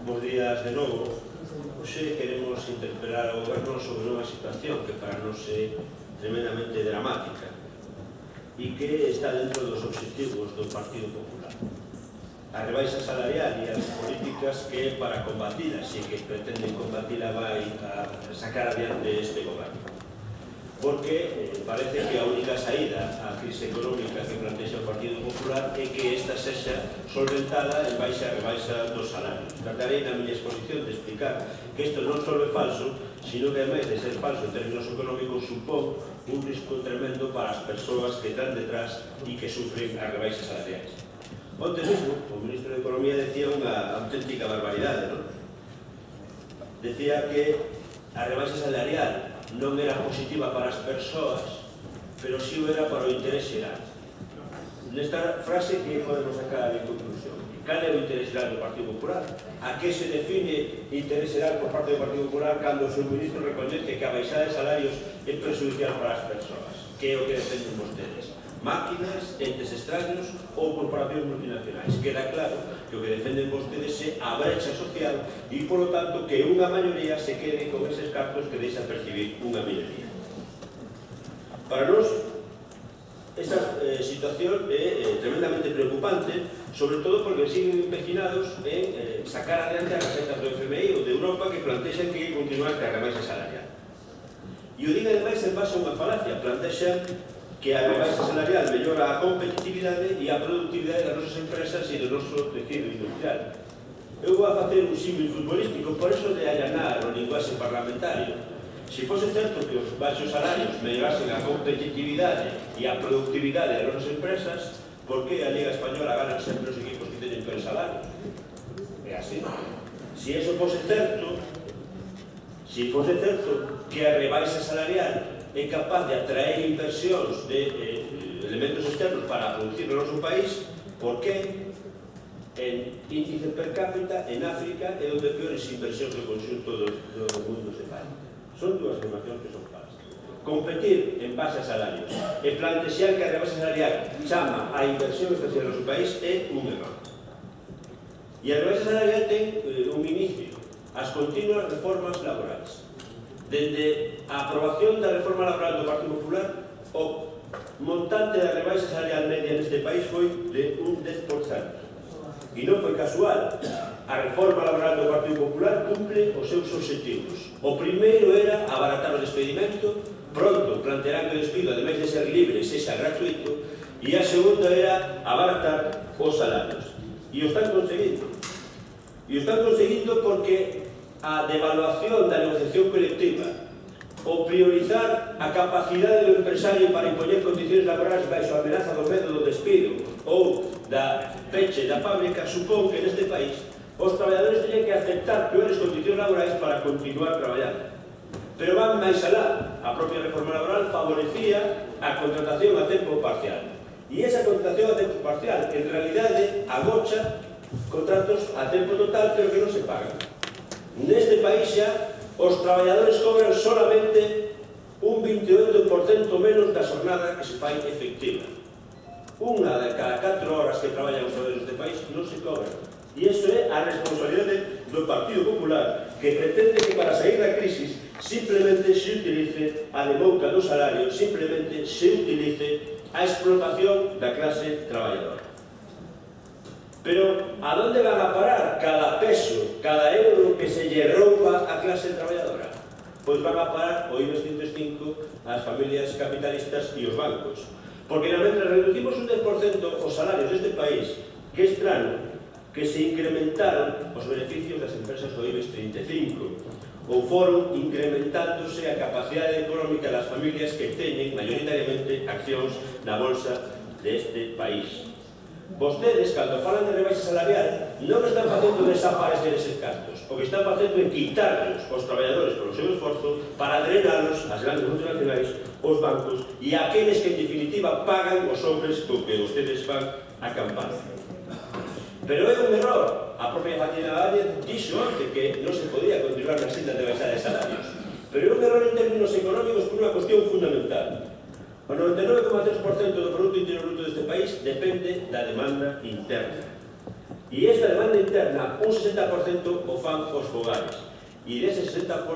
Bos días de novo. Hoxe queremos interpelar ao goberno sobre unha situación que para nós é tremendamente dramática e que está dentro dos obxectivos do Partido Popular. A rebaixa salarial e as políticas que para combatilas e que pretenden combatila vai a sacar adiante este goberno. Porque parece que a única saída á crise económica que plantexa o Partido Popular é que esta sexa solventada en baixa a rebaixa dos salarios. Tratarei na miña exposición de explicar que isto non só é falso, sino que, ademais de ser falso en términos económicos, supón un risco tremendo para as persoas que están detrás e que sufren as rebaixas salariais. Onte mesmo, o ministro de Economía decía unha auténtica barbaridade, non? Decía que a rebaixa salarial non era positiva para as persoas, pero si o era para o interés xeral. Nesta frase, que podemos sacar de conclusión? Cal é o interés xeral do Partido Popular? A que se define interés xeral por parte do Partido Popular cando o seu ministro recoñece que a baixada de salarios é perjudicial para as persoas? Que é o que defenden vostedes? Máquinas, entes extraños ou corporacións multinacionais. Queda claro que o que defenden vostedes é a brecha social e, polo tanto, que unha maioría se quede con eses cartos que deixa percibir unha minoría. Para nós, esta situación é tremendamente preocupante, sobre todo porque siguen empecinados en sacar adiante as recetas do FMI ou de Europa que plantexan que continuar que a rebaixa salarial. E o diga ademais en base a unha falacia, plantexan que a rebaixa salarial mellora a competitividade e a productividade das nosas empresas e do noso tecido industrial. Eu vou a facer un símil futbolístico, por eso de allanar o linguaxe parlamentario. Se fose certo que os baixos salarios mellorasen a competitividade e a productividade das nosas empresas, por que a Liga Española ganan sempre os equipos que teñen peor salario? É así. Se iso fose certo, que a rebaixa salarial é capaz de atraer inversións de elementos externos para producir no noso país, por que en índice per cápita en África é onde peores inversións do conxunto do mundo se fai? Son dúas afirmacións que son falsas. Competir en base a salarios e plantexar que a rebaixa salarial chama a inversión extranjera no noso país é un error. E a rebaixa salarial ten un inicio, as continuas reformas laborais. Dende a aprobación da reforma laboral do Partido Popular, o montante da rebaixa salarial media neste país foi de un 10%. E non foi casual. A reforma laboral do Partido Popular cumple os seus obxectivos. O primeiro era abaratar o despedimento, pronto plantearán que o despido, ademais de ser libre, sexa gratuito, e a segunda era abaratar os salarios. E o están conseguindo. E o están conseguindo porque a devaluación da negociación colectiva, o priorizar a capacidade do empresario para impoñer condicións laborais baixo a amenaza do medo do despido ou da peche da fábrica, supón que neste país os traballadores teñen que aceptar peores condicións laborais para continuar traballando. Pero van máis alá. A propia reforma laboral favorecía a contratación a tempo parcial. E esa contratación a tempo parcial, en realidade, agocha contratos a tempo total, pero que non se pagan. Neste país xa os traballadores cobran solamente un 28% menos da xornada que se fai efectiva. Unha de cada 4 horas que traballan os traballadores deste país non se cobran. E iso é a responsabilidade do Partido Popular, que pretende que para sair da crisis simplemente se utilice a demouca do salario, simplemente se utilice a explotación da clase traballadora. Pero, a onde van a parar cada peso, cada euro que se lle rouba a clase traballadora? Pois van a parar o IBEX 105 ás familias capitalistas e os bancos. Porque, mentre reducimos un 10% os salarios deste país, que é estrano que se incrementaron os beneficios das empresas do IBEX 35, ou foron incrementándose a capacidade económica das familias que teñen maioritariamente accións na bolsa deste país. Vostedes, cando falan de rebaixa salarial, non están facendo desaparecer eses gastos. O que están facendo é quitarlos aos traballadores polo seu esforzo para drenalos ás grandes multinacionais, os bancos e aqueles que, en definitiva, pagan os sobres co que vostedes van a campaña. Pero é un error. A propia Fatina Valle dixo antes que non se podía continuar na senda de baixada de salarios. Pero é un error en términos económicos por unha cuestión fundamental. O 99,3% do Produto Interior Bruto deste país depende da demanda interna. E esta demanda interna, un 60% o fan os fogares. E dese 60%,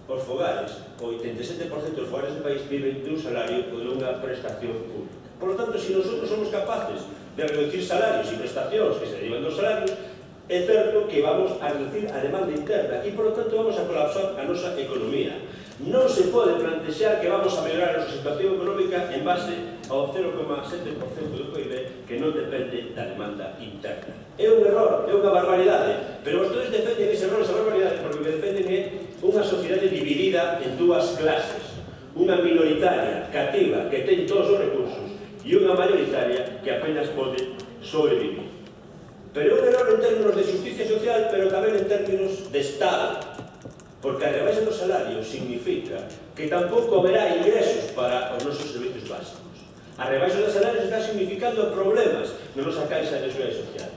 os fogares, o 87% dos fogares do país viven dun salario ou dunha prestación pública. Por lo tanto, se nosotros somos capaces de reducir salarios e prestacións que se derivan dos salarios, é certo que vamos a reducir a demanda interna e, por lo tanto, vamos a colapsar a nosa economía. Non se pode plantexar que vamos a mellorar a nosa situación económica en base ao 0,7% do PIB que non depende da demanda interna. É un error, é unha barbaridade, pero vostedes defenden ese error, esa barbaridade, porque o que defenden é unha sociedade dividida en dúas clases, unha minoritaria, cativa, que ten todos os recursos, e unha mayoritaria que apenas pode sobrevivir. Pero é un error en términos de justicia social, pero tamén en términos de Estado, porque a rebaixa dos salarios significa que tampouco haberá ingresos para os nosos servicios básicos. A rebaixa dos salarios está significando problemas na nosa caixa de seguridade social.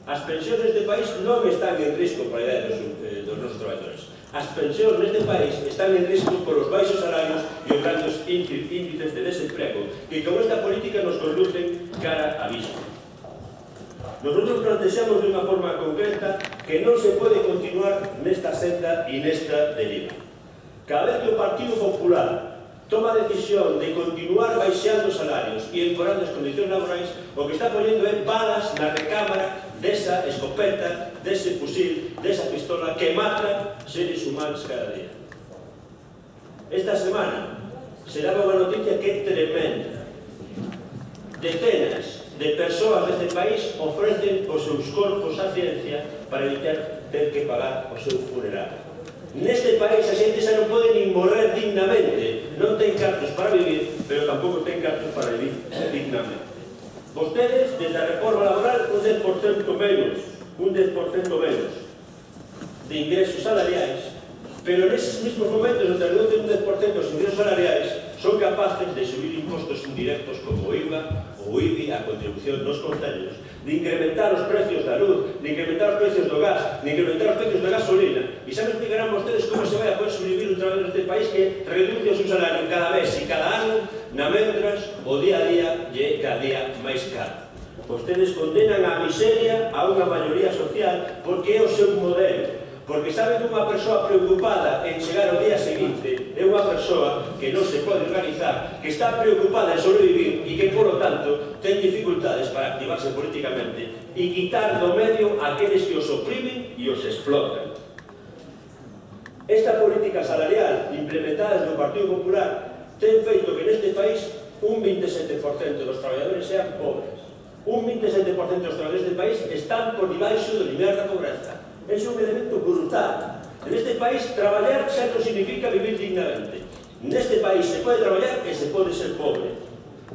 As pensións neste país non están en risco para a idade dos nosos traballadores. As pensións neste país están en risco por os baixos salarios e os grandes índices de desemprego que con esta política nos conducen cara a abismo. Nosotros plantexamos de unha forma concreta que non se pode continuar nesta senda e nesta deriva. Cada vez que o Partido Popular toma a decisión de continuar baixando salarios e empeorando as condicións laborais, o que está poñendo é balas na recámara desa escopeta, dese fusil, desa pistola que mata seres humanos cada día. Esta semana se daba unha noticia que é tremenda. Decenas de persoas deste país ofrecen os seus corpos á ciencia para evitar ter que pagar o seu funeral. Neste país a xente xa non pode nin morrer dignamente, non ten cartos para vivir, pero tampouco ten cartos para vivir dignamente. Vostedes, desde a reforma laboral, un 10% menos de ingresos salariais, pero neses mesmos momentos onde reducen un 10% os ingresos salariais, son capaces de subir impostos indirectos como o IVA, o IBI, a contribución dos concellos, de incrementar os precios da luz, de incrementar os precios do gas, de incrementar os precios da gasolina. E xa me explicarán vostedes como se vai a poder sobrevivir un traballador deste país que reduce o seu salario cada mes e cada ano, na mentras o día a día lle cada día máis caro. Vostedes condenan a miseria a unha maioría social porque é o seu modelo. Porque saben que unha persoa preocupada en chegar ao día seguinte é unha persoa que non se pode organizar, que está preocupada en sobrevivir e que, por lo tanto, ten dificultades para activarse políticamente e quitar do medio aqueles que os oprimen e os explotan. Esta política salarial implementada do Partido Popular ten feito que neste país un 27% dos traballadores sean pobres. Un 27% dos traballadores deste país están por debaixo do nivel da pobreza. É un elemento brutal. En este país, traballar xa non significa vivir dignamente. Neste país se pode traballar e se pode ser pobre.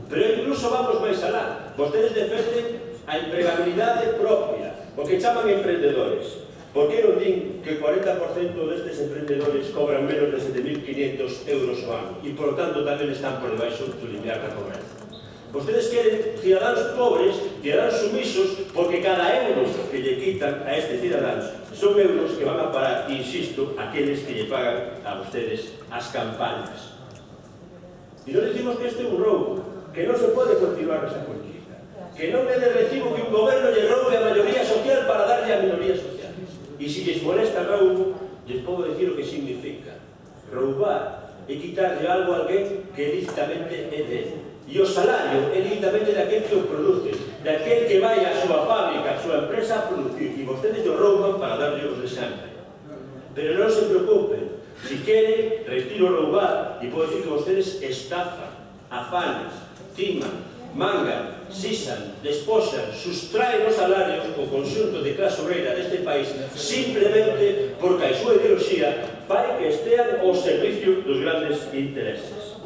Pero incluso vamos máis alá. Vostedes defenden a empregabilidade propia, o que chaman emprendedores. Por que non din que o 40% destes emprendedores cobran menos de 7.500 euros ao ano e, por lo tanto, tamén están por debaixo do limiar da pobreza? Vostedes queren cidadáns pobres, cidadáns sumisos, porque cada euro que lle quitan a estes cidadáns son euros que van a parar, insisto, aqueles que lle pagan a vostedes as campañas. E non decimos que este é un roubo, que non se pode continuar esa política, que non é de recibo que un goberno lle roube a maioría social para darlle a minorías sociales. E se lles molesta roubo, lles podo decir o que significa. Roubar e quitarlle algo a alguén que lícitamente é dele. E o salario é lícitamente daquel que o produce, daquel que vai á súa fábrica, á súa empresa a producir, e vostedes o rouban para darlle os de sempre. Pero non se preocupen, si queren, retiro roubar, e podo decir que vostedes estafan, afanan, timan, mangan, sisan, desposan, sustraen os salarios o conxunto de clase obreira deste país simplemente porque a súa ideoloxía fai que estean ao servicio dos grandes intereses.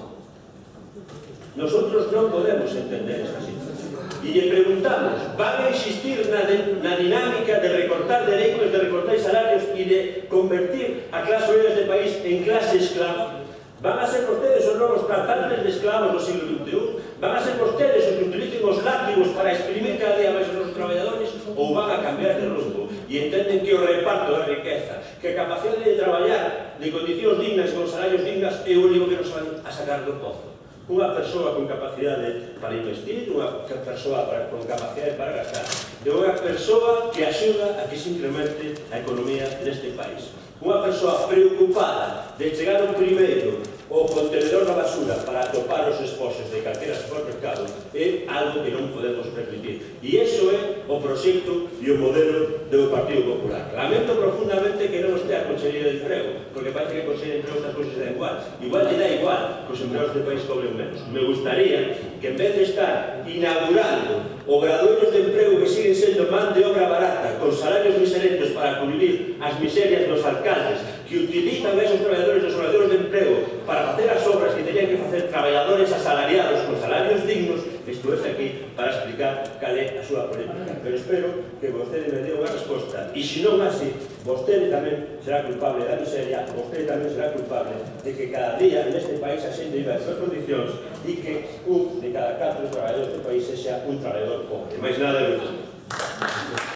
Nosotros non podemos entender esta situación. E lle preguntamos, van a insistir na dinámica de recortar dereitos, de recortar salarios e de convertir a clase obrera deste país en clase esclava? Van a ser vostedes os novos tratantes de esclavos do siglo XXI? Van a ser vostedes os que utilicen os látigos para exprimir cada día máis os nosos traballadores? Ou van a cambiar de rumbo e entenden que o reparto da riqueza, que a capacidade de traballar de condicións dignas e con salarios dignas é o único que nos van a sacar do pozo? Unha persoa con capacidade para investir, unha persoa con capacidade para gastar. de unha persoa que axuda a que se incremente a economía deste país. Unha persoa preocupada de chegar ao primeiro o contenedor da basura para atopar os esposos de calquera supermercado é algo que non podemos permitir. E iso é o proxecto e o modelo do Partido Popular. Lamento profundamente que non estea a Consellería de Emprego, porque parece que a Consellería de Emprego estas cousas dan igual. Igual lle dá igual que os empleados do país cobren menos. Me gustaría que en vez de estar inaugurando obradoiros de emprego que siguen sendo man de obra barata, con salarios miserentos para cubrir as miserias dos alcaldes, que utilizan a esos traballadores dos obradoiros de emprego para facer as obras que tenían que facer traballadores asalariados con salarios dignos, estuve aquí para explicar cal é a súa política. Pero espero que vostede me dé unha resposta. E se non así, vostede tamén será culpable da miseria, vostede tamén será culpable de que cada día neste país a xente viva en súas condicións e que un de cada 4 traballadores do país sexa un traballador pobre. Mais nada de